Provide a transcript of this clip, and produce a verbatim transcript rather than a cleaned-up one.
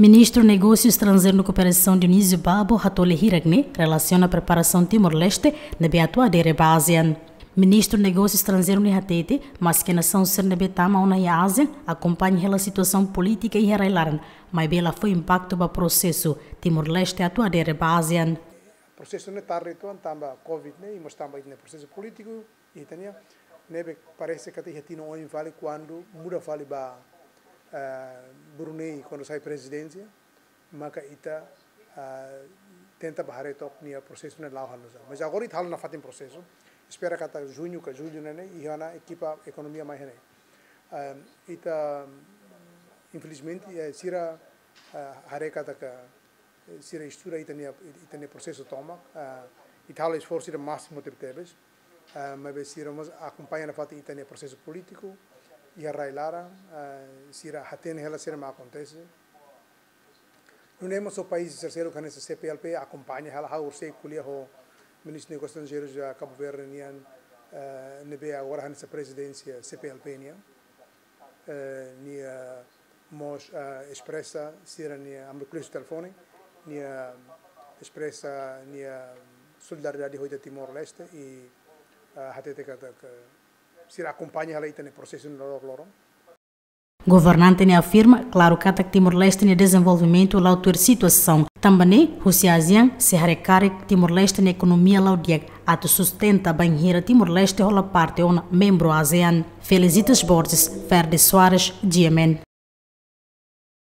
Ministru Negósiu Estranjeiru no Kooperasaun Dionísio Babo hato'o lia hirak ne'e relasiona preparasaun Timor-Leste ne'ebé atu adere ba ASEAN. Ministru Negósiu Estranjeiru ne'e hatete, maske nasaun sira ne'ebé tama ona iha ASEAN akompaña hela situasaun polítika iha rai-laran, maibé la fó impaktu ba prosesu Timor-Leste atu adere ba ASEAN. Prosesu ne'e tarde uitoan tanba COVID ne'e, i mós tanba ita-nia prosesu polítiku, ita-nia, ne'ebé parese katak iha tinan oin fali kuandu muda fali ba, eh, Brunei, kuandu sai prezidénsia, maka ita, ah, tenta ba haree took nia prosesu ne'e la'o halo nu'usá. Mas agora ita halo nafatin prosesu. Espera katak juñu ka jullu ne'e, ne'e, iha ona ekipa ekonomia mai iha ne'e. Ah, ita, infelizmente, eh, sira, ah, haree katak, eh, sira estuda ita-nia, ita-nia prosesu tomak, ah, ita halo esforsu ida másimu tebetebes. Ah, maibé sira mós akompaña nafatin ita-nia prosesu polítiku iha rai-laran, ah, sira hatene hela sira mak akontese. Nune'e mós ho país terseiru hanesan CPLP akompaña hela, ha'u horiseik ko'alia ho Ministru Negósiu Estranjeirus iha Cabo Verde nian, eh, ne'ebé agora hanesan prezidénsia CPLP nian. Eh, nia mós, eh, espresa sira-nia, ami ko'alia husi telefone, nia espresa nia solidariedade ho ita Timor-Leste i, eh, hatete katak sira akompaña hela ita-nia prosesu ne'e loroloron. Governante ne'e afirma klaru katak Timor-Leste nia dezenvolvimentu la'o tuir situasaun. Tanba ne'e, husi ASEAN sei haree karik Timor-Leste nia ekonomia la'o di'ak atu sustenta bainhira Timor-Leste hola parte ona membru ASEAN. Felicitas Borges, Ferde Soares, GMN.